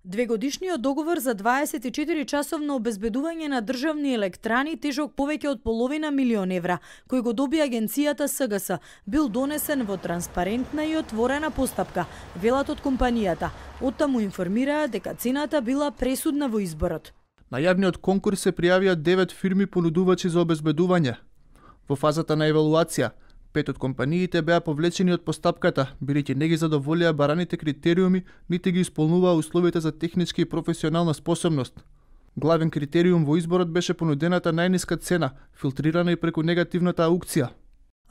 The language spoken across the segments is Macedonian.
Двегодишниот договор за 24-часовно обезбедување на државни електрани тежок повеќе од половина милион евра, кој го доби агенцијата СГС, бил донесен во транспарентна и отворена постапка, велат од компанијата. Оттаму информираа дека цената била пресудна во изборот. На јавниот конкурс се пријавија 9 фирми понудувачи за обезбедување. Во фазата на евалуација, 5 од компаниите беа повлечени од постапката, бидејќи не ги задоволија бараните критериуми, нити ги исполнуваа условите за технички и професионална способност. Главен критериум во изборот беше понудената најниска цена, филтрирана и преку негативната аукција.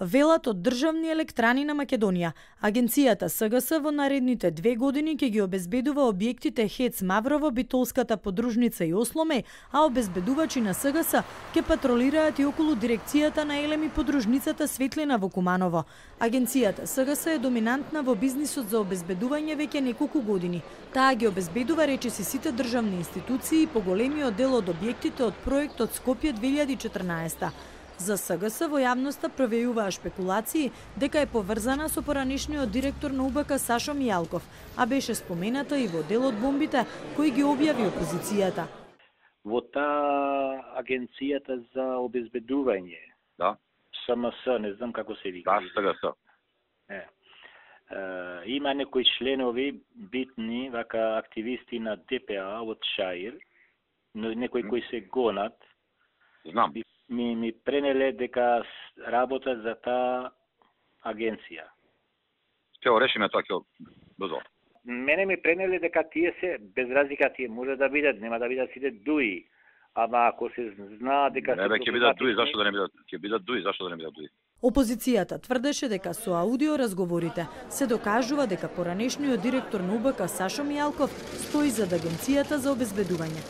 Велат од државни електрани на Македонија. Агенцијата СГС во наредните 2 години ќе ги обезбедува објектите ХЕЦ Маврово, Битолската подружница и Осломе, а обезбедувачи на СГС ќе патролираат и околу дирекцијата на Елем и подружницата Светлина во Куманово. Агенцијата СГС е доминантна во бизнисот за обезбедување веќе неколку години. Таа ги обезбедува речиси сите државни институции и поголемиот дел од објектите од проектот Скопје 2014. За СГС во јавноста провејуваа шпекулации дека е поврзана со поранешниот директор на УБК Сашо Мијалков, а беше спомената и во дел од бомбите кои ги објави опозицијата. Во таа агенцијата за обезбедување, да, СМС, не знам како се вика. Да, СГС. Има некои членови битни, вака активисти на ДПА од ШАИР, некои кои се гонат. Знам. Ми пренеле дека работат за таа агенција. Ќе решиме тоа ќе брзо. Мене ми пренеле дека тие се без разлика, тие може да бидат, нема да бидат сите дуи. Ама ако се знаа дека не, ќе бидат дуи, зашто да не бидат? Ќе бидат дуи, зашто да не бидат дуи? Опозицијата тврдеше дека со аудио разговорите се докажува дека поранешниот директор на УБК Сашо Мијалков стои зад агенцијата за обезбедување.